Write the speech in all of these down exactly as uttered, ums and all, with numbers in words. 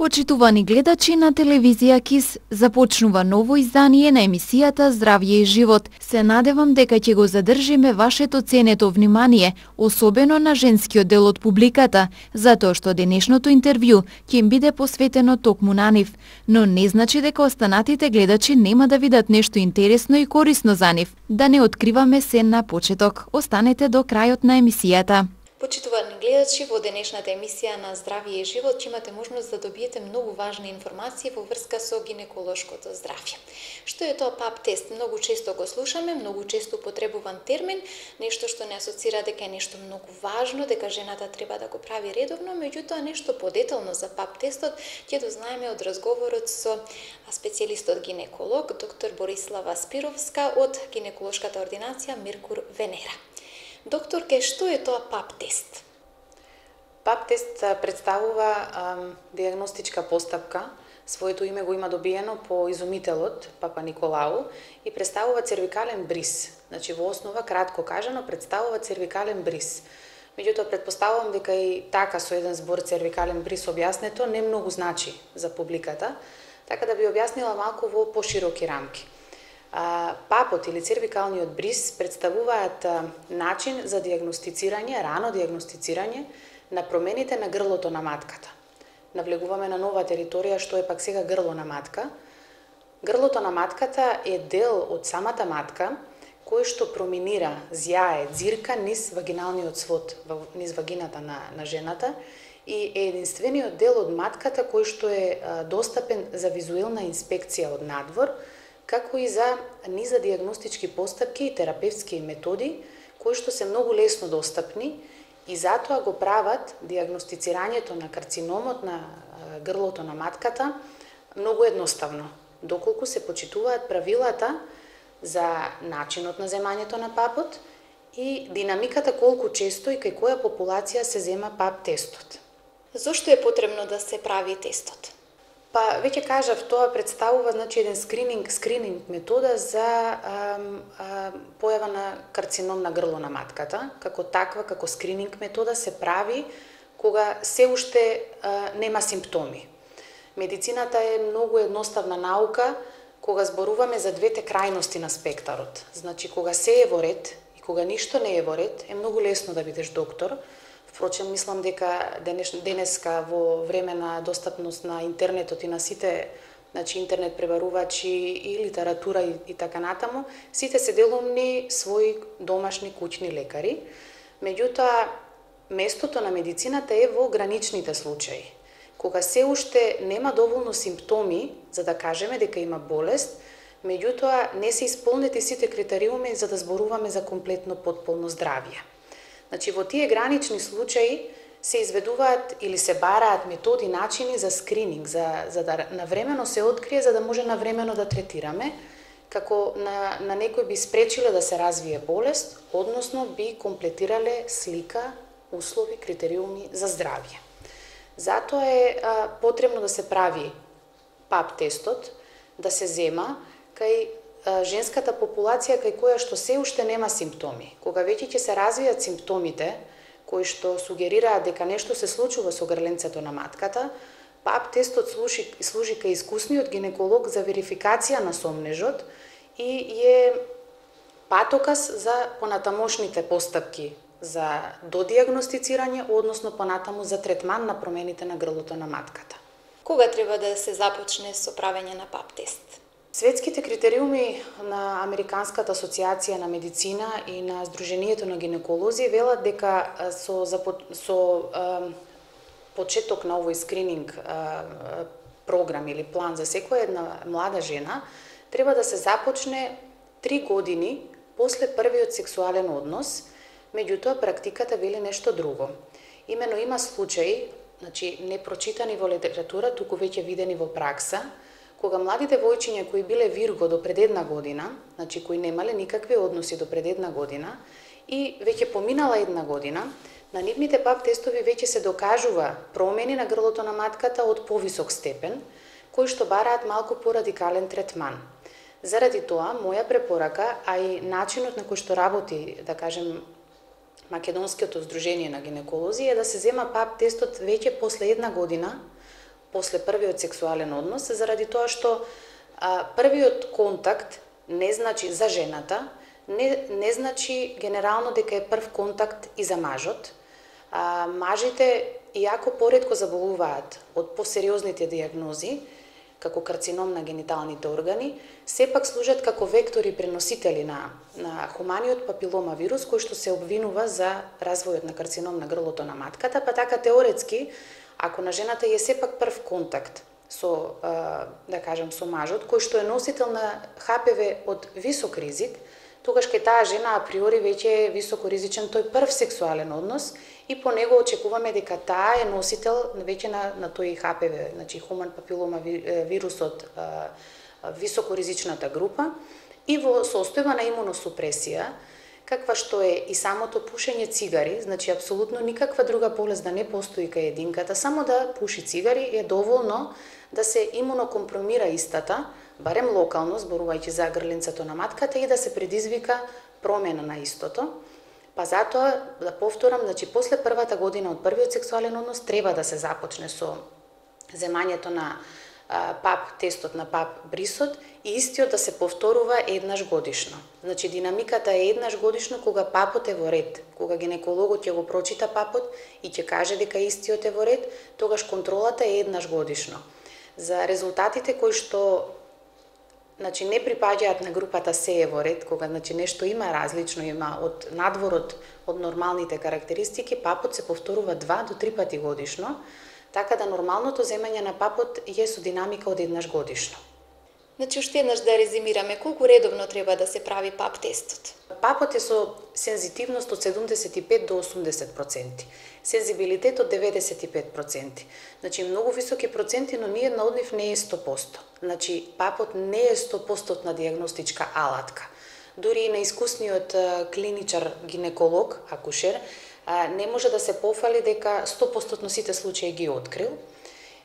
Почитувани гледачи на телевизија КИС, започнува ново издание на емисијата Здравје и живот. Се надевам дека ќе го задржиме вашето ценето внимание, особено на женскиот дел од публиката, затоа што денешното интервју ќе им биде посветено токму на нив, но не значи дека останатите гледачи нема да видат нешто интересно и корисно за нив. Да не откриваме се на почеток. Останете до крајот на емисијата. Почитувани гледачи, во денешната емисија на Здравје и живот ќе имате можност да добиете многу важни информации во врска со гинеколошкото здравје. Што е тоа пап тест? Многу често го слушаме, многу често употребуван термин, нешто што не асоцира дека е нешто многу важно, дека жената треба да го прави редовно, меѓутоа нешто подетално за пап тестот ќе дознаеме од разговорот со специјалистот гинеколог доктор Борислава Спировска од гинеколошката ординација Меркур Венера. Докторке, што е тоа пап тест? пап тест представува ам, диагностичка постапка. Своето име го има добиено по изумителот Папа Николау и представува цервикален бриз. Значи, во основа, кратко кажано, представува цервикален бриз. Меѓутоа, предпоставувам дека и така со еден збор цервикален бриз објаснето не многу значи за публиката, така да би објаснила малку во пошироки рамки. Папот или цервикалниот бриз представуваат начин за диагностицирање, рано диагностицирање на промените на грлото на матката. Навлегуваме на нова територија што е пак сега грло на матка. Грлото на матката е дел од самата матка кој што проминира, зјае, дзирка низ вагиналниот свод, низ вагината на, на жената и е единствениот дел од матката кој што е достапен за визуелна инспекција од надвор, како и за низа диагностички постапки и терапевтски методи, кои што се многу лесно достапни и затоа го прават диагностицирањето на карциномот на грлото на матката многу едноставно, доколку се почитуваат правилата за начинот на земањето на папот и динамиката колку често и кај која популација се зема пап тестот. Зошто е потребно да се прави тестот? Па, веќе кажав, тоа представува значи еден скрининг, скрининг метода за а, а, појава на карцином на грло на матката. Како таква, како скрининг метода се прави кога се уште а, нема симптоми. Медицината е многу едноставна наука кога зборуваме за двете крајности на спектарот. Значи, кога се е во ред и кога ништо не е во ред, е многу лесно да бидеш доктор. Впрочем, мислам дека денес, денеска во време на достапност на интернетот и на сите, значи интернет пребарувачи и литература и, и така натаму, сите се делумни своји домашни куќни лекари. Меѓутоа, местото на медицината е во граничните случаи. Кога се уште нема доволно симптоми за да кажеме дека има болест, меѓутоа не се исполнети сите критериуми за да зборуваме за комплетно потполно здравје. Значи, во тие гранични случаи се изведуваат или се бараат методи, начини за скрининг, за, за да навремено се открие, за да може навремено да третираме, како на, на некој би спречиле да се развие болест, односно би комплетирале слика, услови, критериуми за здравје. Затоа е а, потребно да се прави пап тестот, да се зема кај женската популација кај која што се уште нема симптоми. Кога веќе ќе се развијат симптомите, кои што сугерираат дека нешто се случува со грленцето на матката, пап тестот служи, служи кај искусниот гинеколог за верификација на сомнежот и е патоказ за понатамошните постапки за додиагностицирање, односно понатаму за третман на промените на грлото на матката. Кога треба да се започне со правење на пап тест? Светските критериуми на Американската асоциација на медицина и на Сдруженијето на гинеколози велат дека со, со а, почеток на овој скрининг а, програм или план за секоја една млада жена треба да се започне три години после првиот сексуален однос, меѓутоа практиката вели нешто друго. Имено има случаи, значи не прочитани во литература, туку веќе видени во пракса, кога младите војчиња кои биле вирго до пред една година, значи кои немале никакви односи до пред една година и веќе поминала една година, на нивните пап тестови веќе се докажува промени на грлото на матката од повисок степен, кои што бараат малку порадикален третман. Заради тоа, моја препорака, а и начинот на кој што работи, да кажем, Македонското сдружение на гинеколози е да се зема пап тестот веќе после една година после првиот сексуален однос, заради тоа што а, првиот контакт не значи за жената, не, не значи генерално дека е прв контакт и за мажот. А, мажите, иако поретко заболуваат од посериозните диагнози, како карцином на гениталните органи, сепак служат како вектори преносители на, на хуманиот папилома вирус, кој што се обвинува за развојот на карцином на грлото на матката, па така теоретски, ако на жената е сепак прв контакт со, да кажем, со мажот, кој што е носител на Х П В од висок ризик, тогаш кај таа жена априори веќе е високоризичен тој прв сексуален однос и по него очекуваме дека таа е носител веќе на, на тој Х П В, значи хуман папилома вирусот, високоризичната група, и во состојба на имуносупресија, каква што е и самото пушење цигари, значи апсолутно никаква друга болест да не постои кај единката, само да пуши цигари е доволно да се имунокомпромира истата, барем локално, зборувајќи за грленцето на матката, и да се предизвика промена на истото. Па затоа, да повторам, значи после првата година од првиот сексуален однос треба да се започне со земањето на а, пап тестот, на пап брисот, и истиот да се повторува еднаш годишно. Значи динамиката е еднаш годишно кога папот е во ред, кога гинекологот ќе го прочита папот и ќе каже дека истиот е во ред, тогаш контролата е еднаш годишно. За резултатите кои што значи не припаѓаат на групата се е во ред, кога значи нешто има различно, има од надворот од нормалните карактеристики, папот се повторува два до три пати годишно, така да нормалното земање на папот е со динамика од еднаш годишно. Значи, уште еднаш да резимираме, колку редовно треба да се прави пап тестот? Папот е со сензитивност од седумдесет и пет до осумдесет проценти, сензибилитет од деветдесет и пет проценти. Значи, многу високи проценти, но ниедна од нив не е сто проценти. Значи, папот не е сто проценти диагностичка алатка. Дури и на искусниот клиничар, гинеколог, акушер, не може да се пофали дека сто проценти сите случаи ги открил.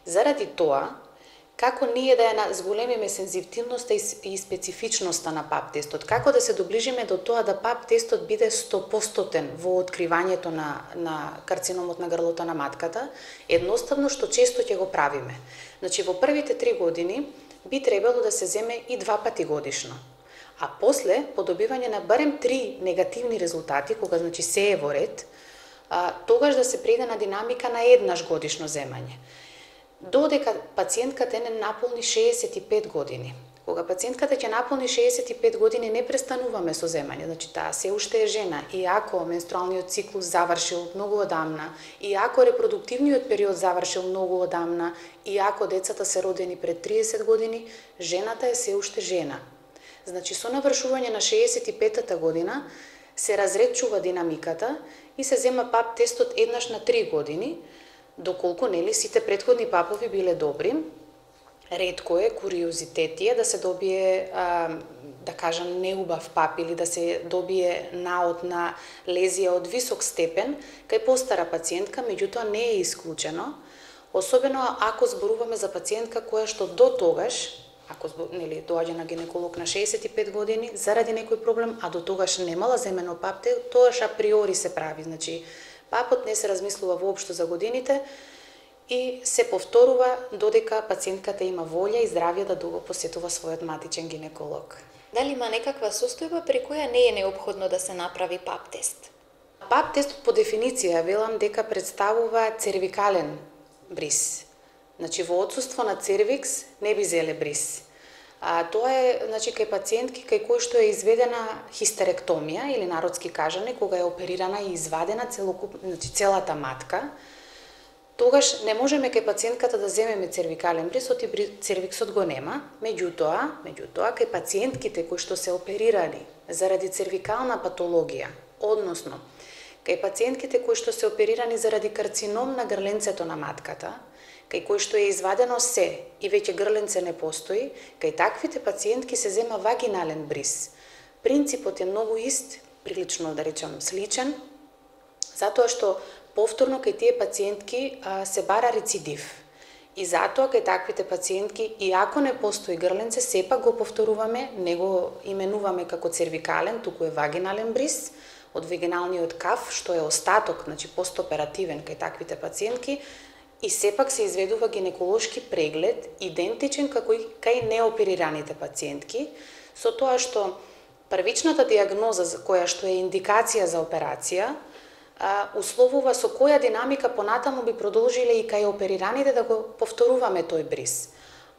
Заради тоа, како ние да ја зголемиме сензитивноста и специфичноста на пап тестот, како да се доближиме до тоа да пап тестот биде сто проценти во откривањето на, на карциномот на грлото на матката, едноставно што често ќе го правиме. Значи, во првите три години би требало да се земе и два пати годишно. А после, по добивање на барем три негативни резултати, кога значи се е во ред, а, тогаш да се преиде на динамика на еднаш годишно земање. Додека пациентката не наполни шеесет и пет години. Кога пациентката ќе наполни шеесет и пет години, не престануваме со земање, значи таа се уште е жена, и ако менструалниот циклус завршил многу одамна, и ако репродуктивниот период завршил многу одамна, и ако децата се родени пред триесет години, жената е се уште жена. Значи, со навршување на шеесет и петата година се разредчува динамиката и се зема пап тестот еднаш на три години, доколку нели сите претходни папови биле добри. Ретко е, куриозитет е да се добие, а, да кажам, неубав пап или да се добие наод на лезија од висок степен кај постара пациентка, меѓутоа не е исклучено, особено ако зборуваме за пациентка која што до тогаш, ако нели доаѓа на гинеколог на шеесет и пет години заради некој проблем, а до тогаш немала земено пап, тогаш априори се прави. Значи, папот не се размислува воопшто за годините и се повторува додека пациентката има волја и здравје да го посетува својот матичен гинеколог. Дали има некаква состојба при која не е неопходно да се направи пап тест? Пап тестот по дефиниција велам дека представува цервикален бриз. Значи, во отсуство на цервикс не би зеле бриз. А, тоа е, значи, кај пациентки кај кои што е изведена хистеректомија или народски кажане, кога е оперирана и извадена целокуп, значи, целата матка, тогаш не можеме кај пациентката да земеме цервикален бриз, оти цервиксот го нема. Меѓутоа, меѓутоа кај пациентките кои што се оперирани заради цервикална патологија, односно кај пациентките кои што се оперирани заради карцином на грленцето на матката, кај кој што е извадено се и веќе грленце не постои, кај таквите пациентки се зема вагинален бриз. Принципот е многу ист, прилично да речам сличен, затоа што повторно кај тие пациентки а, се бара рецидив. И затоа кај таквите пациентки, иако не постои грленце, сепак го повторуваме, не го именуваме како цервикален, туку е вагинален бриз од вагиналниот кав, што е остаток, значи постоперативен кај таквите пациентки, и сепак се изведува гинеколошки преглед идентичен како и кај неоперираните пациентки, со тоа што првичната диагноза која што е индикација за операција условува со која динамика понатаму би продолжиле и кај оперираните да го повторуваме тој бриз.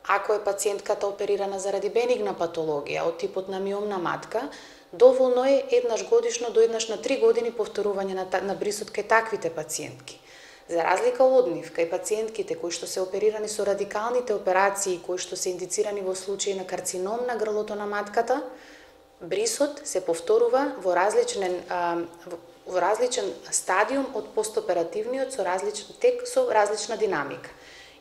Ако е пациентката оперирана заради бенигна патологија од типот на миомна матка, доволно е еднаш годишно до еднаш на три години повторување на, на брисот кај таквите пациентки. За разлика од нив, кај пациентките кои што се оперирани со радикалните операции, кои што се индицирани во случаи на карцином на грлото на матката, брисот се повторува во различен, а, во различен стадиум од постоперативниот со различен тек со различна динамика.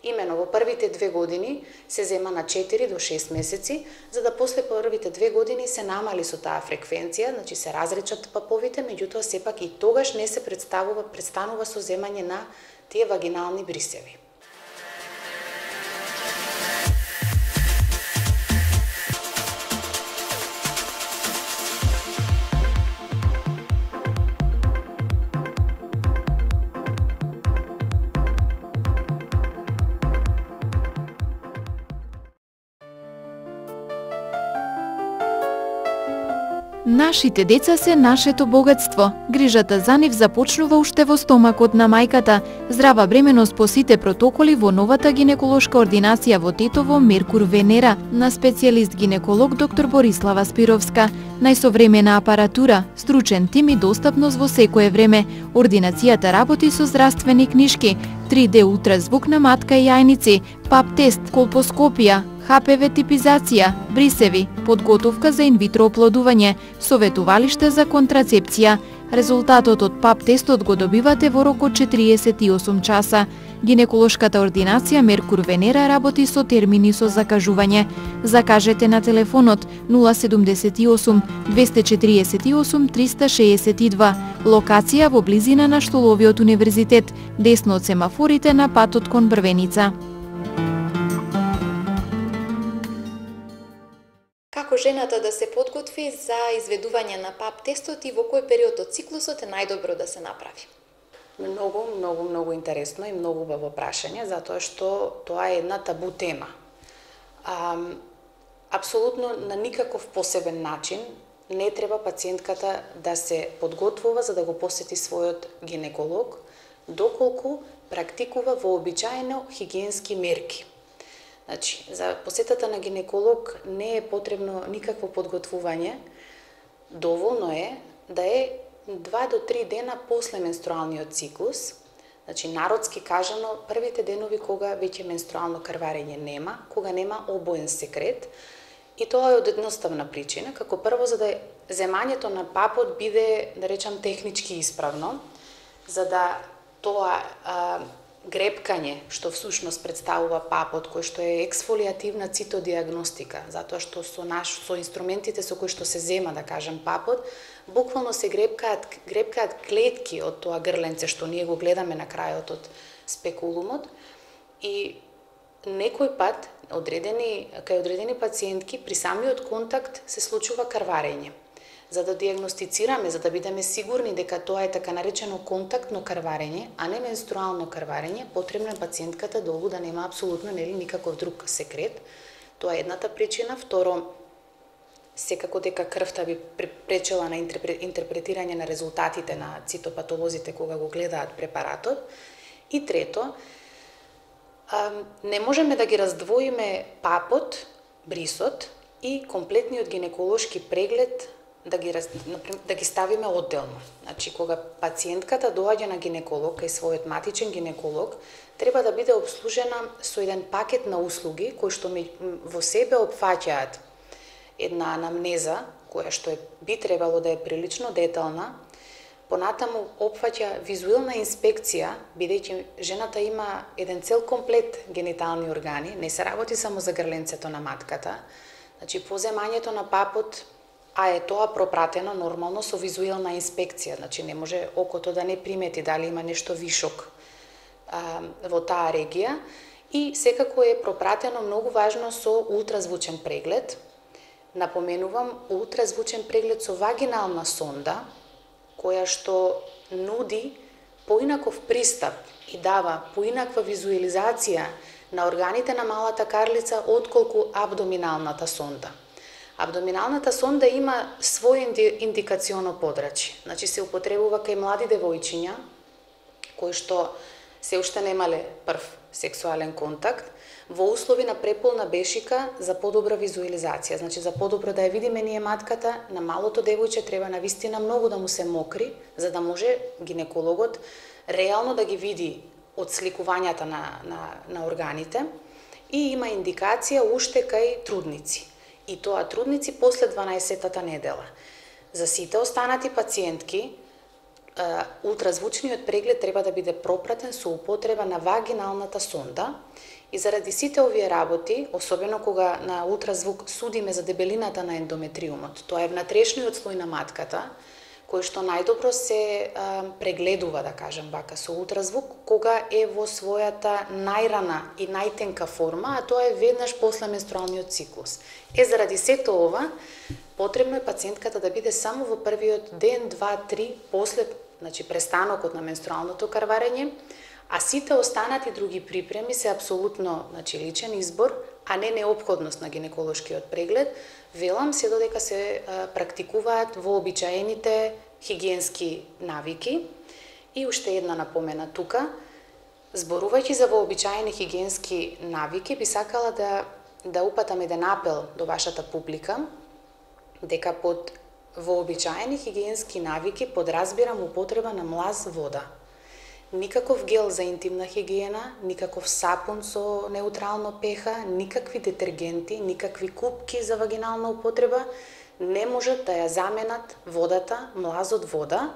Имено во првите две години се зема на четири до шест месеци, за да после првите две години се намали со таа фреквенција, значи се разречат паповите, меѓутоа сепак и тогаш не се представува престанува со земање на тие вагинални брисеви. Нашите деца се нашето богатство. Грижата за нив започнува уште во стомакот на мајката. Здрава бременост по сите протоколи во новата гинеколошка ординација во Тетово Меркур Венера на специјалист гинеколог доктор Борислава Спировска. Најсовремена апаратура, стручен тим и достапност во секое време. Ординацијата работи со здравствени книшки, три де ултразвук на матка и јајници, пап тест, колпоскопија, ха пе ве типизација, брисеви, подготовка за инвитро оплодување, советувалиште за контрацепција. Резултатот од пап тестот го добивате во рок од четириесет и осум часа. Гинеколошката ординација Меркур Венера работи со термини со закажување. Закажете на телефонот нула седум осум двесте четириесет и осум триста шеесет и два. Локација во близина на Штоловиот универзитет, десно од семафорите на патот кон Брвеница. Како жената да се подготви за изведување на пап тестот и во кој период од циклусот е најдобро да се направи? Многу, многу, многу интересно и многу убаво прашање, затоа што тоа е една табу тема. А, апсолутно на никаков посебен начин не треба пациентката да се подготвува за да го посети својот гинеколог, доколку практикува вообичаено хигиенски мерки. Значи, за посетата на гинеколог не е потребно никакво подготвување, доволно е да е два до три дена после менструалниот циклус, значи народски кажано првите денови кога веќе менструално крварење нема, кога нема обоен секрет, и тоа е од едноставна причина, како прво за да земањето на папот биде, да речам, технички исправно, за да тоа а, грепкање, што всушност представува папот, кој што е ексфолиативна цитодиагностика, затоа што со наш со инструментите со кои што се зема, да кажем, папот, буквално се грепкаат грепкаат клетки од тоа грленце што ние го гледаме на крајот од спекулумот, и некој пат одредени кај одредени пациентки при самиот контакт се случува крварење. За да диагностицираме, за да бидеме сигурни дека тоа е така наречено контактно крварење, а не менструално крварење, потребно е пациентката долго да нема апсолутно нели никаков друг секрет. Тоа е едната причина. Второ, секако дека крвта би пречела на интерпретирање на резултатите на цитопатолозите кога го гледаат препаратот. И трето, не можеме да ги раздвоиме папот, брисот и комплетниот гинеколошки преглед да ги, да ги ставиме одделно. Значи, кога пациентката доаѓа на гинеколог, кај својот матичен гинеколог, треба да биде обслужена со еден пакет на услуги, кои што во себе опфаќаат една анамнеза, која што е, би требало да е прилично детална, понатаму опфаќа визуелна инспекција, бидејќи жената има еден цел комплет генитални органи, не се работи само за грленцето на матката, значи по земањето на папот, а е тоа пропратено нормално со визуелна инспекција, значи не може окото да не примети дали има нешто вишок а, во таа регија, и секако е пропратено многу важно со ултразвучен преглед. Напоменувам, ултразвучен преглед со вагинална сонда, која што нуди поинаков пристап и дава поинаква визуализација на органите на малата карлица отколку абдоминалната сонда. Абдоминалната сонда има свој индикационо подрачје. Значи се употребува кај млади девојчиња кои што се уште немале прв сексуален контакт во услови на преполна бешика за подобра визуализација. Значи за подобро да ја видиме ние матката, на малото девојче треба навистина многу да му се мокри, за да може гинекологот реално да ги види од сликувањата на, на, на органите, и има индикација уште кај трудници. И тоа трудници после дванаесеттата недела. За сите останати пациентки, ултразвучниот преглед треба да биде пропратен со употреба на вагиналната сонда, и заради сите овие работи, особено кога на ултразвук судиме за дебелината на ендометриумот, тоа е внатрешниот слој на матката, кој што најдобро се а, прегледува, да кажем вака, со ултразвук, кога е во својата најрана и најтенка форма, а тоа е веднаш после менструалниот циклус. Е, заради сето ова, потребно е пациентката да биде само во првиот ден, два, три, после, значи престанокот на менструалното карварење, а сите останати други припреми се апсолутно, значи, личен избор, а не неопходност на гинеколошкиот преглед, велам се додека се а, практикуваат вообичаените хигиенски навики. И уште една напомена тука, зборувајќи за вообичаени хигиенски навики, би сакала да, да упатам еден апел до вашата публика, дека под вообичаени хигиенски навики подразбирам употреба на млаз вода. Никаков гел за интимна хигиена, никаков сапун со неутрално пеха, никакви детергенти, никакви купки за вагинална употреба не можат да ја заменат водата, млазот вода,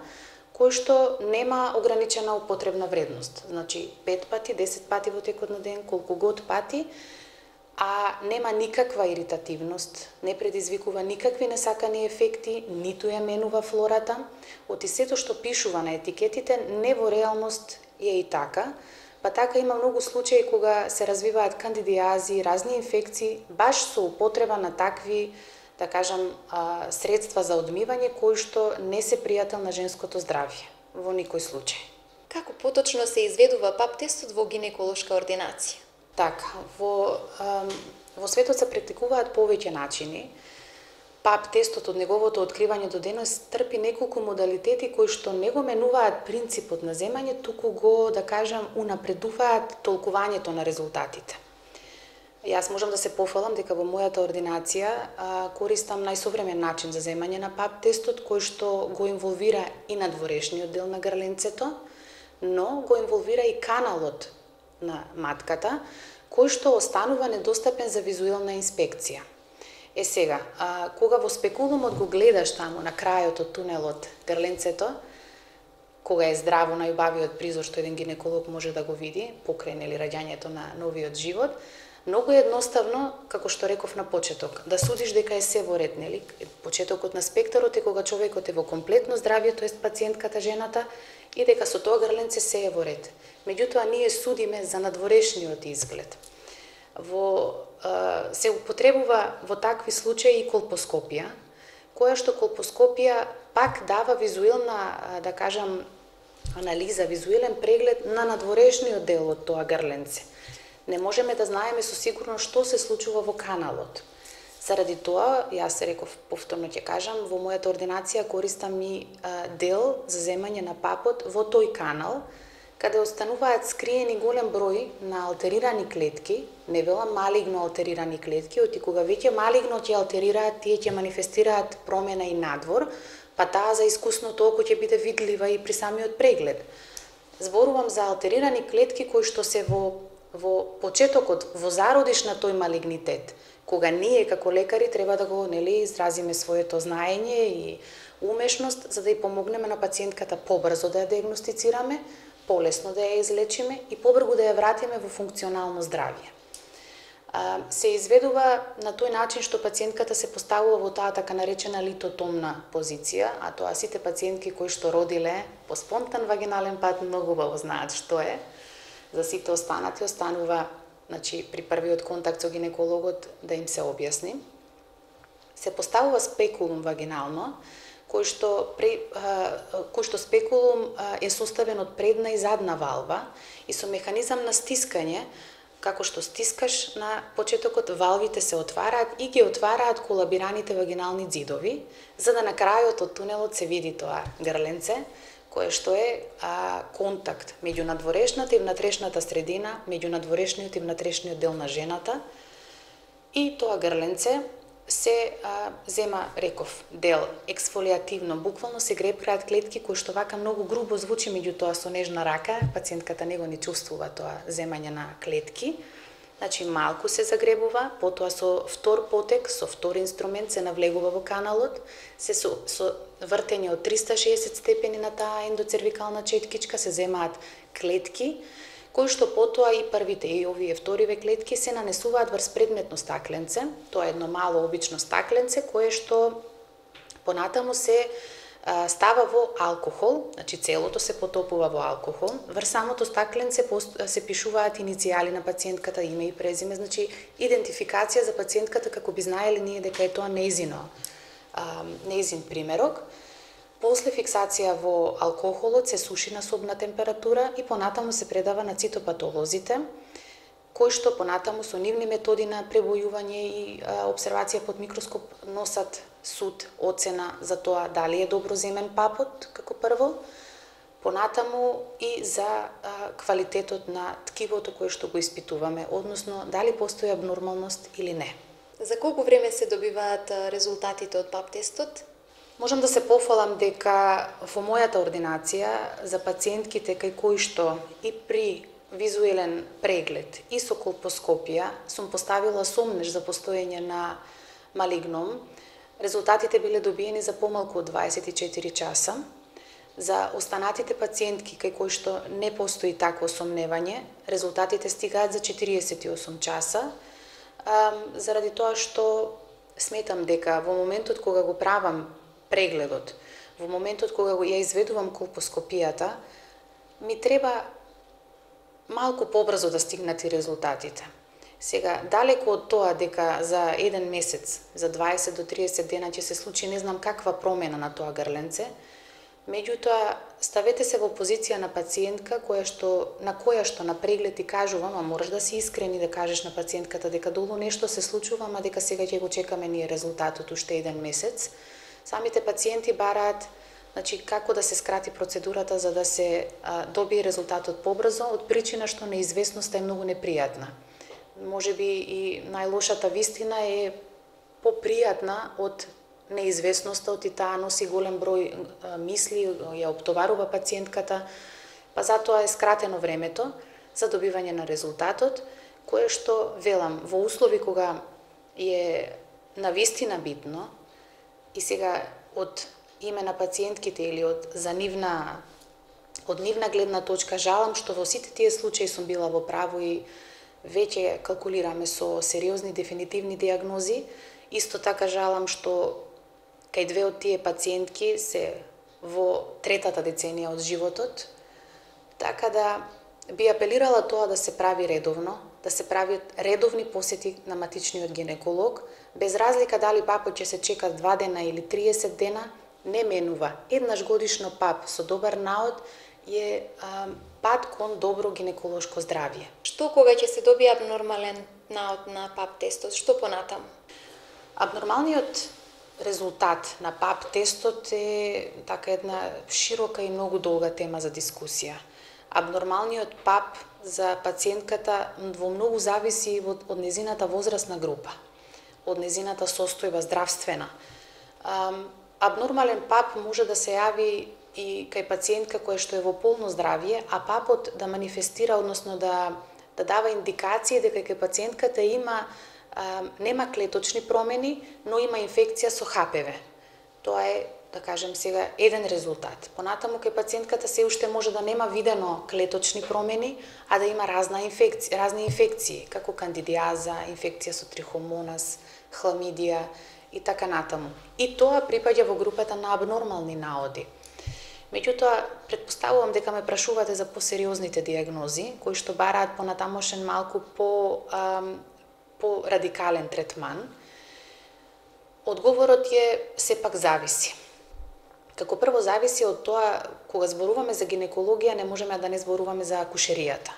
кој што нема ограничена употребна вредност. Значи пет пати, десет пати во текот на ден, колку год пати, а нема никаква иритативност, не предизвикува никакви несакани ефекти, ниту ја менува флората. Оти сето што пишува на етикетите, не во реалност е и така, па така има многу случаи кога се развиваат кандидиази, разни инфекции, баш со употреба на такви, да кажам, средства за одмивање кои што не се пријател на женското здравје во никој случај. Како поточно се изведува пап тестот во гинеколошка ординација? Така, во, во светот се практикуваат повеќе начини. пап тестот од неговото откривање до денес трпи неколку модалитети кои што не го менуваат принципот на земање, туку го, да кажам, унапредуваат толкувањето на резултатите. Јас можам да се пофалам дека во мојата ординација а, користам најсовремен начин за земање на пап тестот, кој што го инволвира и надворешниот дел на грленцето, но го инволвира и каналот на матката, кој што останува недостапен за визуелна инспекција. Е сега, а, кога во спекулумот го гледаш таму на крајот од тунелот грленцето, кога е здраво, најубавиот призор што еден гинеколог може да го види, покрај нели раѓањето на новиот живот, многу е едноставно, како што реков на почеток, да судиш дека е се во ред, нели? Почетокот на спектарот е кога човекот е во комплетно здравје, тоест пациентката, жената, и дека со тоа грленце се е во ред. Меѓутоа, ние судиме за надворешниот изглед. Во, а, се употребува во такви случаи и колпоскопија, која што колпоскопија пак дава визуелна, да кажам, анализа, визуелен преглед на надворешниот дел од тоа грленце. Не можеме да знаеме со сигурност што се случува во каналот. Заради тоа, јас реков, повторно ќе кажам, во мојата ординација користам и а, дел за земање на папот во тој канал, каде остануваат скриени голем број на алтерирани клетки, не велам малигно алтерирани клетки, оти кога веќе малигно ќе алтерираат, тие ќе манифестираат промена и надвор, па таа за искусното око ќе биде видлива и при самиот преглед. Зборувам за алтерирани клетки кои што се во во почетокот, во зародиш на тој малигнитет, кога ние како лекари треба да го, нели, изразиме своето знаење и умешност за да ја помогнеме на пациентката побрзо да ја диагностицираме, полесно да ја излечиме и побрзо да ја вратиме во функционално здравје. А, се изведува на тој начин што пациентката се поставува во таа така наречена литотомна позиција, а тоа сите пациентки кои што родиле по спонтан вагинален пат многу убаво знаат што е. За сите останати останува, значи, при првиот контакт со гинекологот да им се објасни. Се поставува спекулум вагинално, кој што, пре, кој што спекулум е составен од предна и задна валва и со механизам на стискање, како што стискаш на почетокот, валвите се отвараат и ги отвараат колабираните вагинални ѕидови, за да на крајот од тунелот се види тоа грленце, кое што е а, контакт меѓу надворешната и внатрешната средина, меѓу надворешниот и внатрешниот дел на жената. И тоа грленце се а, зема, реков, дел ексфолиативно, буквално се гребкаат клетки кои што вака многу грубо звучи, меѓутоа со нежна рака пациентката него не чувствува тоа земање на клетки. Значи малку се загребува, потоа со втор потек, со втор инструмент се навлегува во каналот, се со, со вртење од триста и шеесет степени на таа ендоцервикална четкичка се земаат клетки, кои што потоа и првите и овие вториве клетки се нанесуваат врз предметно стакленце. Тоа е едно мало обично стакленце кое што понатаму се а, става во алкохол, значи целото се потопува во алкохол. Врз самото стакленце се пишуваат иницијали на пациентката, име и презиме, значи идентификација за пациентката како би знаеле ние дека е тоа нејзино, а, нејзин примерок. После фиксација во алкохолот се суши на собна температура и понатаму се предава на цитопатолозите, кои што понатаму со нивни методи на пребојување и а, обсервација под микроскоп носат суд, оцена за тоа дали е добро земен папот како прво, понатаму и за а, квалитетот на ткивото кое што го испитуваме, односно дали постои абнормалност или не. За колку време се добиваат резултатите од пап тестот? Можам да се пофалам дека во мојата ординација за пациентките кај кои што и при визуелен преглед и со колпоскопија сум поставила сомнеж за постоење на малигном, резултатите биле добиени за помалку од дваесет и четири часа. За останатите пациентки кај кои што не постои такво сомневање, резултатите стигаат за четириесет и осум часа, заради тоа што сметам дека во моментот кога го правам прегледот, во моментот кога ја изведувам колпоскопијата, ми треба малку побрзо да стигнат и резултатите. Сега, далеко од тоа дека за еден месец, за дваесет до триесет дена ќе се случи не знам каква промена на тоа грленце, меѓутоа ставете се во позиција на пациентка која што, на која што на преглед ти кажувам, а мораш да си искрен и да кажеш на пациентката дека долу нешто се случува, а дека сега ќе го чекаме ние резултатот уште еден месец. Самите пациенти бараат, значи, како да се скрати процедурата за да се а, добие резултатот побрзо, од причина што неизвестноста е многу непријатна. Можеби и најлошата вистина е попријатна од неизвестноста, од и таа носи голем број а, мисли, ја оптоварува пациентката, па затоа е скратено времето за добивање на резултатот, кое што, велам, во услови кога е навистина битно, и сега од име на пациентките или од за нивна од нивна гледна точка жалам што во сите тие случаи сум била во право и веќе калкулираме со сериозни дефинитивни диагнози. Исто така жалам што кај две од тие пациентки се во третата деценија од животот, така да би апелирала тоа да се прави редовно, да се прават редовни посети на матичниот гинеколог, без разлика дали папот ќе се чека два дена или триесет дена, не менува. Еднаш годишно пап со добар наод е а, пат кон добро гинеколошко здравје. Што кога ќе се добие абнормален наод на пап тестот, што понатаму? Абнормалниот резултат на пап тестот е така една широка и многу долга тема за дискусија. Абнормалниот пап за пациентката во многу зависи од, од незината возрастна група, од незината состојба здравствена. Абнормален пап може да се јави и кај пациентка која што е во полно здравје, а папот да манифестира, односно да, да дава индикации дека кај пациентката има а, нема клеточни промени, но има инфекција со Х П В. Тоа е, да кажем сега, еден резултат. Понатаму кај пациентката се уште може да нема видено клеточни промени, а да има разна инфекција, разни инфекции, како кандидиаза, инфекција со трихомонас, хламидија и така натаму. И тоа припаѓа во групата на абнормални наоди. Меѓутоа, претпоставувам дека ме прашувате за посериозните диагнози, кои што бараат понатамошен малку по, ам, по радикален третман. Одговорот е сепак зависи. Како прво зависи од тоа, кога зборуваме за гинекологија, не можеме да не зборуваме за акушеријата.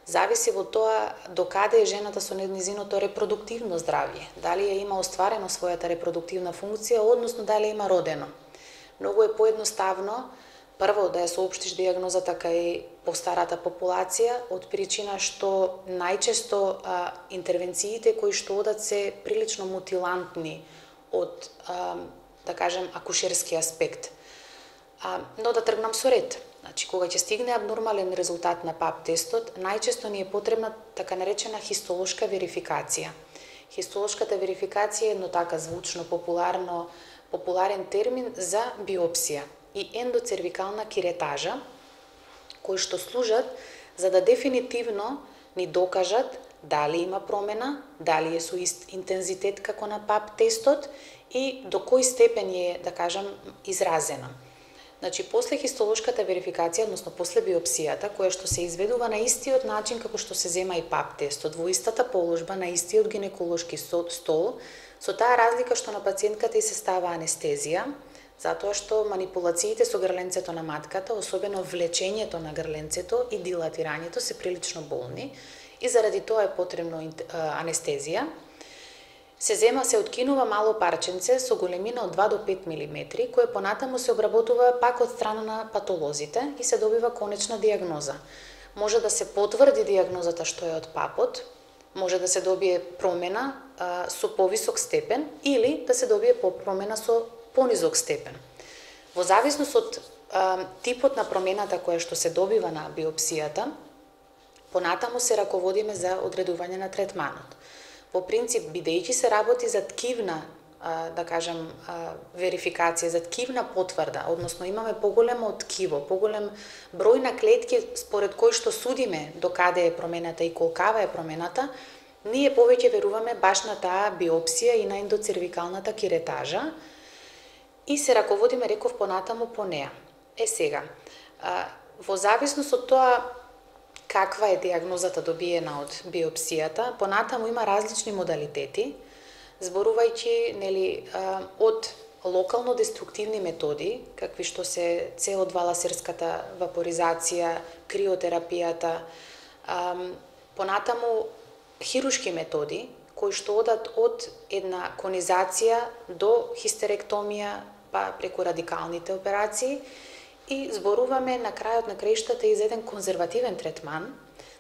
Зависи во тоа докаде е жената со незиното репродуктивно здравје, дали ја има остварено својата репродуктивна функција, односно дали има родено. Многу е поедноставно прво да ја соопштиш дијагнозата кај постарата популација, од причина што најчесто а, интервенциите кои што одат се прилично мутилантни од, а, да кажем, акушерски аспект. А, но да тргнам со ред. Значи, кога ќе стигне абнормален резултат на пап тестот, најчесто ни е потребна така наречена хистолошка верификација. Хистолошката верификација е едно така звучно, популарно, популарен термин за биопсија и ендоцервикална киретажа, кои што служат за да дефинитивно ни докажат дали има промена, дали е со ист интензитет како на пап тестот и до кој степен е, да кажам, изразена. Значи, после хистолошката верификација, односно после биопсијата, која што се изведува на истиот начин како што се зема и пап тестот, во истата положба, на истиот гинеколошки стол, со таа разлика што на пациентката и се става анестезија, затоа што манипулациите со грленцето на матката, особено влечењето на грленцето и дилатирањето се прилично болни и заради тоа е потребно анестезија. Се зема, се откинува мало парченце со големина од два до пет милиметри, кое понатаму се обработува пак од страна на патолозите и се добива конечна дијагноза. Може да се потврди дијагнозата што е од папот, може да се добие промена а, со повисок степен или да се добие промена со понизок степен. Во зависност од а, типот на промената која што се добива на биопсијата, понатаму се раководиме за одредување на третманот. По принцип, бидејќи се работи за ткивна, да кажем, верификација, за ткивна потврда, односно имаме поголемо ткиво, поголем број на клетки според кој што судиме докаде е промената и колкава е промената, ние повеќе веруваме баш на таа биопсија и на ендоцервикалната киретажа и се раководиме, реков, понатаму по неа. Е сега, во зависност од тоа каква е дијагнозата добиена од биопсијата, понатаму има различни модалитети, зборувајќи, нели, од локално деструктивни методи, какви што се це о два ласерската вапоризација, криотерапијата, понатаму хирушки методи, кои што одат од една конизација до хистеректомија, па преку радикалните операции, и зборуваме на крајот на краиштата и за еден конзервативен третман,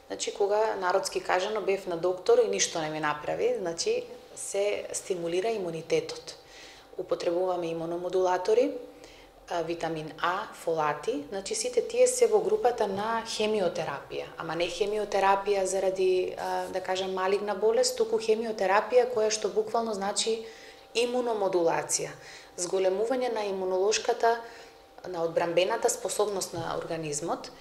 значи кога народски кажано бев на доктор и ништо не ми направи, значи се стимулира имунитетот. Употребуваме имуномодулатори, витамин А, фолати, значи сите тие се во групата на хемиотерапија, ама не хемиотерапија заради, да кажам, малигна болест, туку хемиотерапија која што буквално значи имуномодулација, зголемување на имунолошката, на одбранбената способност на организмот,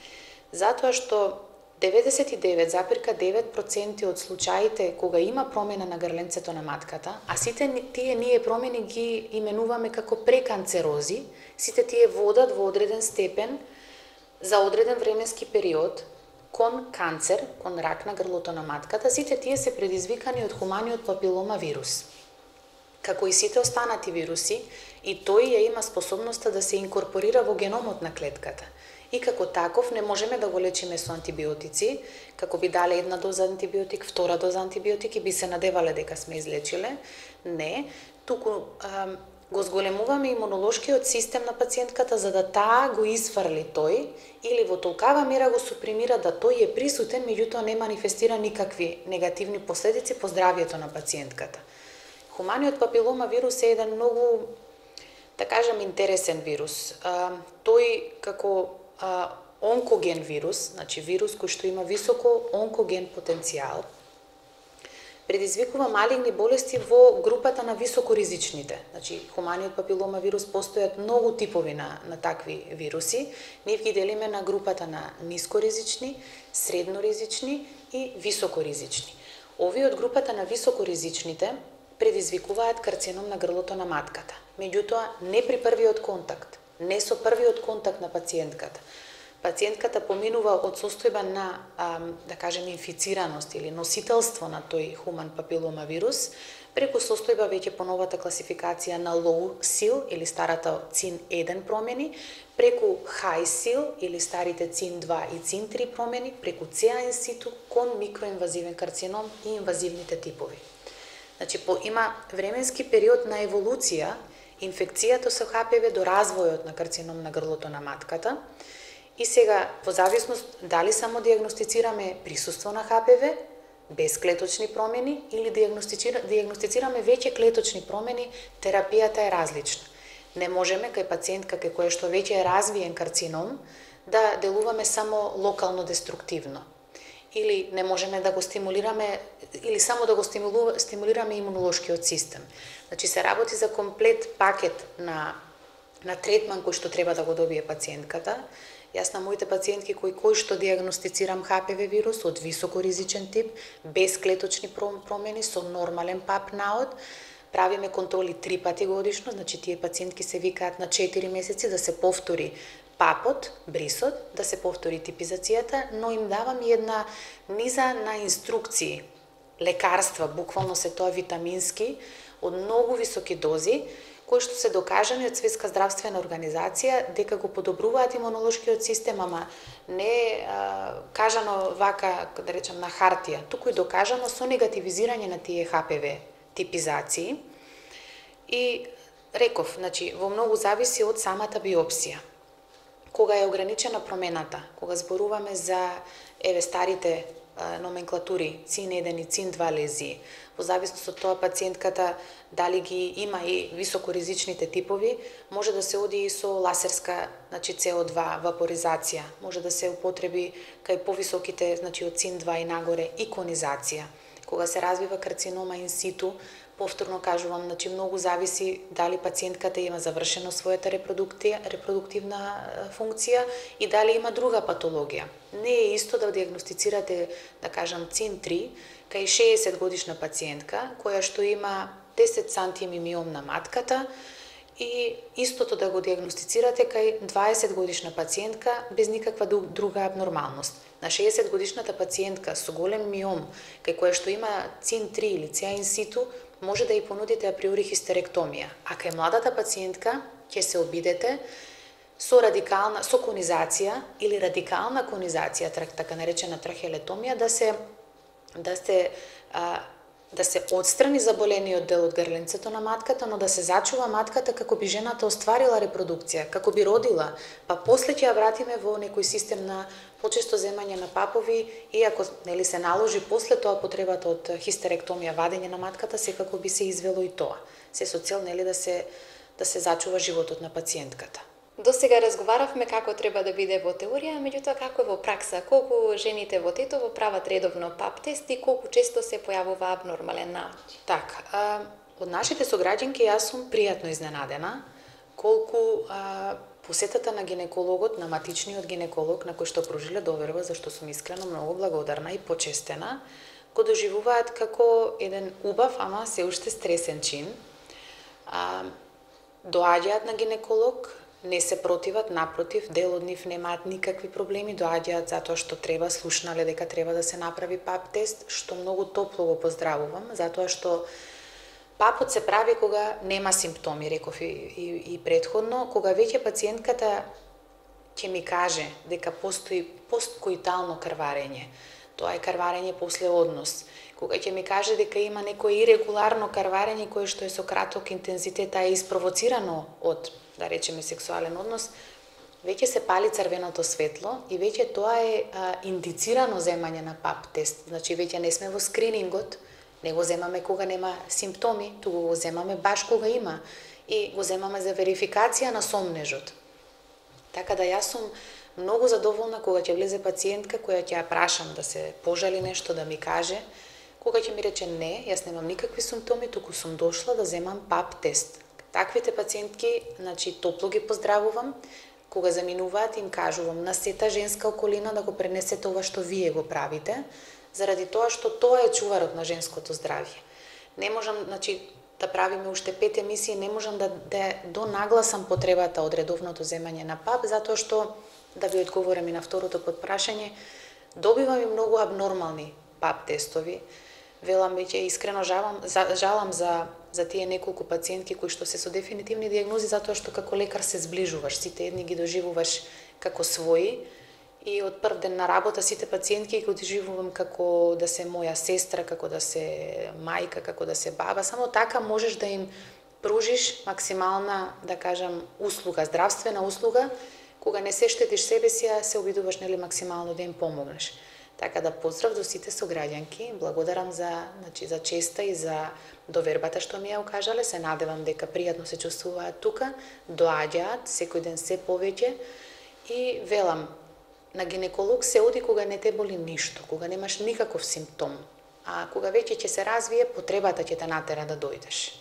затоа што деветдесет и девет запирка девет проценти од случаите кога има промена на грленцето на матката, а сите тие ние промени ги именуваме како преканцерози, сите тие водат во одреден степен за одреден временски период кон канцер, кон рак на грлото на матката, сите тие се предизвикани од хуманиот папилома вирус. Како и сите останати вируси, и тој ја има способноста да се инкорпорира во геномот на клетката. И како таков не можеме да го лечиме со антибиотици, како би дале една доза антибиотик, втора доза антибиотик и би се надевале дека сме излечиле. Не, туку а, го зголемуваме имунолошкиот систем на пациентката за да таа го изфрли тој или во толкава мера го супримира да тој е присутен, меѓутоа не манифестира никакви негативни последици по здравјето на пациентката. Хуманиот папилома вирус е еден многу, да кажам, интересен вирус. А, тој како а, онкоген вирус, значи вирус кој што има високо онкоген потенцијал, предизвикува малигни болести во групата на високоризичните. Значи, хуманиот папилома вирус постојат многу типови на, на такви вируси. Ние ги делиме на групата на нискоризични, средноризични и високоризични. Овие од групата на високоризичните предизвикуваат карцином на грлото на матката. Меѓутоа, не при првиот контакт, не со првиот контакт на пациентката, пациентката поминува од состојба на, да кажем, инфицираност или носителство на тој хуман папилома вирус, преку состојба веќе по новата класификација на low сил или старата цин еден промени, преку high сил или старите цин два и цин три промени, преку Ц А in situ кон микроинвазивен карцином и инвазивните типови. Значи, по, има временски период на еволуција инфекцијата со Х П В до развојот на карцином на грлото на матката. И сега, во зависност дали само диагностицираме присуство на Х П В, без клеточни промени, или диагностицираме веќе клеточни промени, терапијата е различна. Не можеме кај пациентка кај која што веќе е развиен карцином да делуваме само локално деструктивно. Или не можеме да го стимулираме, или само да го стимулираме имунолошкиот систем. Значи се работи за комплет пакет на, на третман кој што треба да го добие пациентката. Јас на моите пациентки кои кои што диагностицирам Х П В вирус од високоризичен тип, без клеточни промени, со нормален пап наод, правиме контроли три пати годишно, значи тие пациентки се викаат на четири месеци да се повтори папот, брисот, да се повтори типизацијата, но им давам и една низа на инструкции, лекарства, буквално се тоа витамински, од многу високи дози, кои што се докажани од Светска здравствена организација дека го подобруваат имунолошкиот систем, ама не а, кажано вака, да речам, на хартија, туку и докажано со негативизирање на тие Х П В типизации. И реков, значи, во многу зависи од самата биопсија. Кога е ограничена промената, кога зборуваме за еве старите а, номенклатури цин еден и цин два лезии, во зависност од тоа пациентката дали ги има и високоризичните типови, може да се оди и со ласерска, значи С О два вапоризација, може да се употреби кај повисоките, значи од цин два и нагоре, иконизација. Кога се развива карцинома in situ, повторно кажувам, значи многу зависи дали пациентката има завршено својата репродуктивна функција и дали има друга патологија. Не е исто да диагностицирате, да кажам, цин три кај шеесет годишна пациентка која што има десет сантими миом на матката и истото да го диагностицирате кај дваесет годишна пациентка без никаква друга абнормалност. На шеесет годишната пациентка со голем миом, кај која што има цин три или Ц А in situ, може да ја понудите априори хистеректомија, а кај младата пациентка ќе се обидете со радикална со конизација или радикална конизација, така наречена трахеолетомија, да се да се а, да се отстрани заболениот дел од грленцето на матката, но да се зачува матката како би жената остварила репродукција, како би родила, па после ќе ја вратиме во некој систем на почесто земање на папови, иако нели се наложи после тоа потребата од хистеректомија, вадење на матката, секако би се извело и тоа. Се со цел нели да се да се зачува животот на пациентката. До сега разговаравме како треба да биде во теорија, меѓутоа како е во пракса, колку жените во Тетово прават редовно пап тест и колку често се појавува абнормален наод? Така, од нашите сограѓанки јас сум пријатно изненадена колку а, посетата на гинекологот, на матичниот гинеколог, на кој што прожиле доверба, зашто сум искрено многу благодарна и почестена, го доживуваат како еден убав, ама се уште стресен чин. А, доаѓаат на гинеколог, не се противат, напротив, дел од нив немаат никакви проблеми, доаѓаат затоа што треба, слушнале дека треба да се направи пап тест, што многу топло го поздравувам, затоа што папот се прави кога нема симптоми, реков и, и, и предходно, кога веќе пациентката ќе ми каже дека постои посткоитално крварење, тоа е крварење после однос, кога ќе ми каже дека има некој ирегуларно крварење кое што е со краток интензитет, а е испровоцирано од, да речеме, сексуален однос, веќе се пали црвеното светло и веќе тоа е а, индицирано земање на пап тест. Значи веќе не сме во скринингот, не го земаме кога нема симптоми, туку го земаме баш кога има и го земаме за верификација на сомнежот. Така да јас сум многу задоволна кога ќе влезе пациентка која ќе ја прашам да се пожали нешто, да ми каже, кога ќе ми рече не, јас немам никакви симптоми, туку сум дошла да земам пап тест. Таквите пациентки, значи, топло ги поздравувам, кога заминуваат им кажувам на сета женска околина да го пренесете ова што вие го правите, заради тоа што тоа е чуварот на женското здравје. Не можам, значи, да правиме уште пет емисии, не можам да, да донагласам потребата од редовното земање на ПАП, затоа што, да ви одговорам и на второто подпрашање, добивам и многу абнормални ПАП тестови. Велам веќе искрено жалам, жалам за, за тие неколку пациентки кои што се со дефинитивни диагнози, затоа што како лекар се зближуваш, сите едни ги доживуваш како своји, и од прв ден на работа сите пациентки ги доживувам како да се моја сестра, како да се мајка, како да се баба. Само така можеш да им пружиш максимална, да кажам, услуга, здравствена услуга, кога не се штетиш себе си, а се обидуваш нели максимално да им помогнеш. Така да поздрав до сите сограѓанки, благодарам за, значи, за честа и за довербата што ми ја окажале, се надевам дека пријатно се чувствуваат тука, доаѓаат секој ден се повеќе и велам, на гинеколог се оди кога не те боли ништо, кога немаш никаков симптом, а кога веќе ќе се развие, потребата ќе те натера да дојдеш.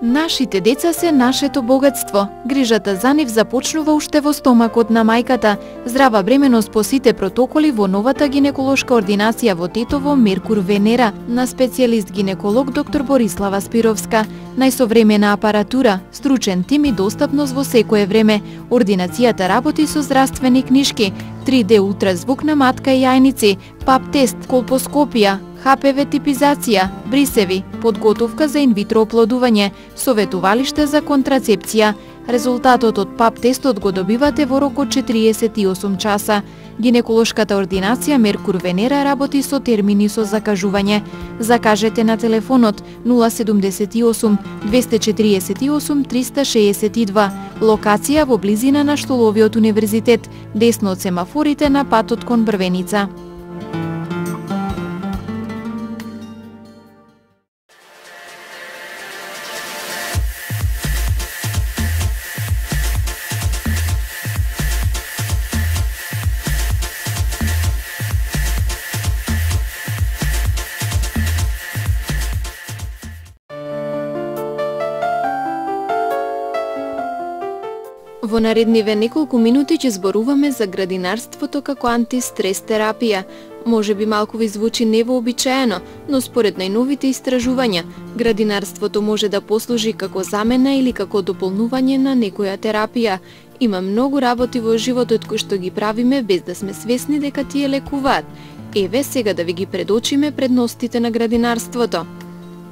Нашите деца се нашето богатство. Грижата за нив започнува уште во стомакот на мајката. Здрава бременост по сите протоколи во новата гинеколошка ординација во Тетово Меркур Венера на специјалист гинеколог доктор Борислава Спировска. Најсовремена апаратура, стручен тим и достапност во секое време. Ординацијата работи со здравствени книшки, три де ултразвук на матка и јајници, пап тест, колпоскопија, ха пе ве типизација, брисеви, подготовка за инвитро оплодување, советувалиште за контрацепција. Резултатот од пап тестот го добивате во рок од четириесет и осум часа. Гинеколошката ординација Меркур Венера работи со термини со закажување. Закажете на телефонот нула седумдесет и осум двесте четириесет и осум триста шеесет и два. Локација во близина на Штоловиот универзитет, десно од семафорите на патот кон Брвеница. Во наредниве неколку минути ќе зборуваме за градинарството како антистрес терапија. Може би малку ви звучи невообичаено, но според најновите истражувања, градинарството може да послужи како замена или како дополнување на некоја терапија. Има многу работи во животот кои што ги правиме без да сме свесни дека тие лекуваат. Еве сега да ви ги предочиме предностите на градинарството.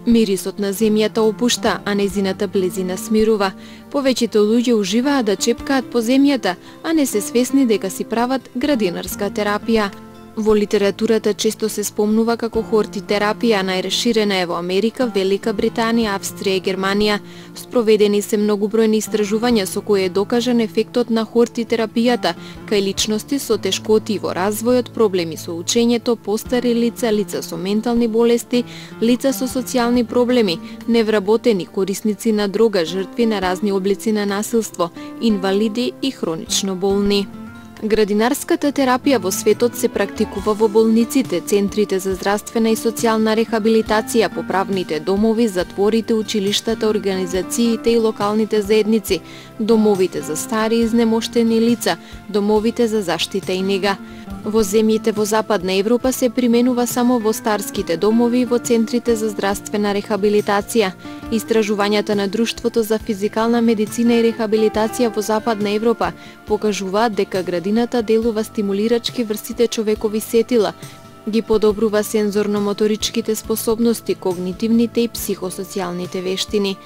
Мирисот на земјата опушта, а незината близина смирува. Повеќето луѓе уживаат да чепкаат по земјата, а не се свесни дека си прават градинарска терапија. Во литературата често се спомнува како хортитерапија, најраширена е во Америка, Велика Британија, Австрија и Германија. Спроведени се многубројни истражувања со кои е докажан ефектот на хортитерапијата кај личности со тешкоти во развојот, проблеми со учењето, постари лица, лица со ментални болести, лица со социјални проблеми, невработени, корисници на дрога, жртви на разни облици на насилство, инвалиди и хронично болни. Градинарската терапија во светот се практикува во болниците, центрите за здравствена и социјална рехабилитација, поправните домови, затворите, училиштата, организациите и локалните заедници, домовите за стари и изнемоштени лица, домовите за заштита и нега. Во земјите во Западна Европа се применува само во старските домови и во центрите за здравствена рехабилитација. Истражувањата на Друштвото за физикална медицина и рехабилитација во Западна Европа покажуваат дека градината делува стимулирачки врз сите човекови сетила, ги подобрува сензорно-моторичките способности, когнитивните и психосоцијалните вештини.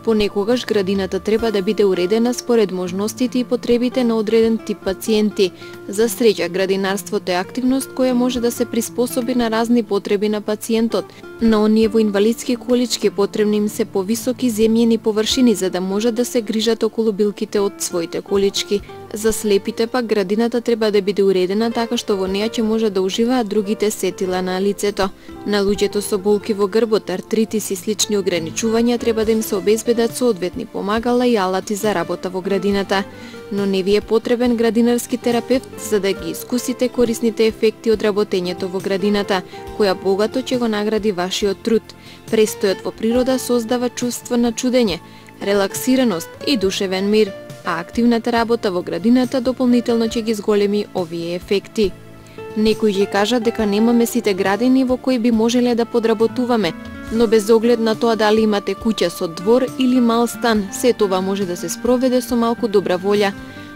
Понекогаш градината треба да биде уредена според можностите и потребите на одреден тип пациенти. За среќа, градинарството е активност која може да се приспособи на разни потреби на пациентот. На оние во инвалидски колички потребни им се повисоки земјени површини за да можат да се грижат околу билките од своите колички. За слепите пак градината треба да биде уредена така што во неја ќе може да уживаат другите сетила на лицето. На луѓето со болки во грбот, артритис и слични ограничувања треба да им се обезбедат соодветни помагала и алати за работа во градината. Но не ви е потребен градинарски терапевт за да ги искусите корисните ефекти од работењето во градината, која богато ќе го награди вашиот труд. Престојот во природа создава чувство на чудење, релаксираност и душевен мир, а активната работа во градината дополнително ќе ги зголеми овие ефекти. Некои ќе кажат дека немаме сите градини во кои би можеле да подработуваме, но без оглед на тоа дали имате куќа со двор или мал стан, се това може да се спроведе со малку добра волја.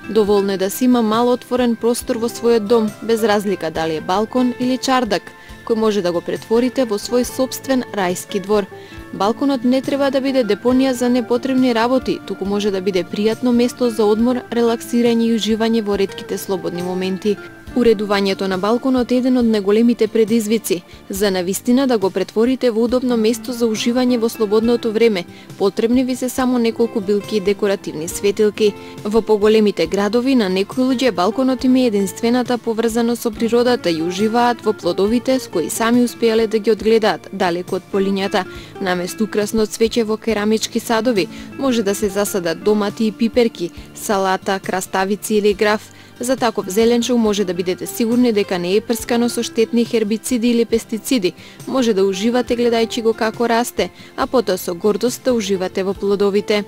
Доволно е да си има мал отворен простор во својот дом, без разлика дали е балкон или чардак, кој може да го претворите во свој сопствен рајски двор. Балконот не треба да биде депонија за непотребни работи, туку може да биде пријатно место за одмор, релаксирање и уживање во ретките слободни моменти. Уредувањето на балконот е еден од најголемите предизвици. За навистина да го претворите во удобно место за уживање во слободното време, потребни ви се само неколку билки и декоративни светилки. Во поголемите градови на некои луѓе балконот им е единствената поврзаност со природата и уживаат во плодовите с кои сами успеале да ги одгледаат далеку од полињата. Наместо украсно цвеќе во керамички садови, може да се засадат домати и пиперки, салата, краставици или граф. За таков зеленчук може да бидете сигурни дека не е прскано со штетни хербициди или пестициди. Може да уживате гледајќи го како расте, а потоа со гордост да уживате во плодовите.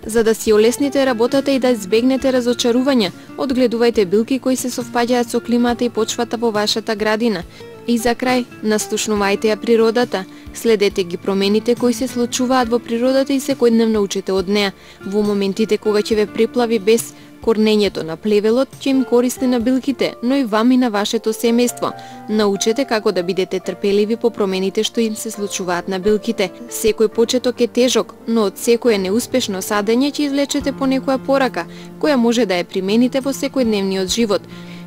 За да си олесните работата и да избегнете разочарувања, одгледувајте билки кои се совпаѓаат со климата и почвата во вашата градина. И за крај, настушнувајте ја природата. Следете ги промените кои се случуваат во природата и секојдневно учете од неа. Во моментите кога ќе ве преплави бес, корнењето на плевелот ќе им користи на билките, но и вам и на вашето семејство. Научете како да бидете трпеливи по промените што им се случуваат на билките. Секој почеток е тежок, но од секое неуспешно садење ќе извлечете по некоја порака, која може да ја примените во секојдневниот живот.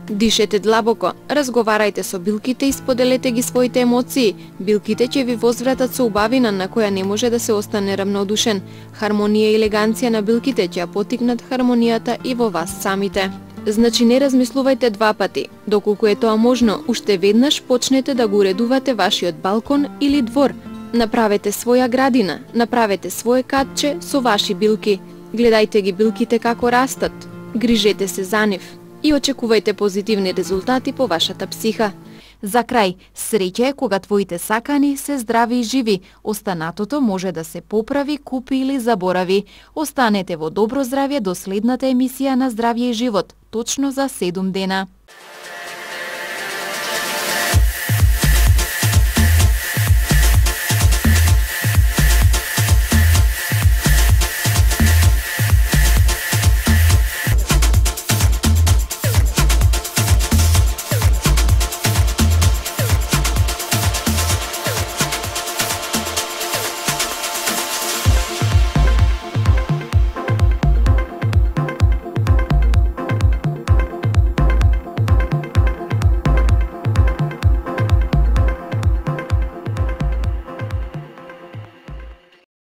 Дишете длабоко, разговарајте со билките и споделете ги своите емоции. Билките ќе ви возвратат со убавина на која не може да се остане равнодушен. Хармонија и елеганција на билките ќе ја потикнат хармонијата и во вас самите. Значи не размислувајте два пати. Доколку е тоа можно, уште веднаш почнете да го уредувате вашиот балкон или двор. Направете своја градина, направете свое катче со ваши билки. Гледајте ги билките како растат. Грижете се за нив и очекувајте позитивни резултати по вашата психа. За крај, среќа е кога твоите сакани се здрави и живи, останатото може да се поправи, купи или заборави. Останете во добро здравје до следната емисија на Здравје и живот, точно за седум дена.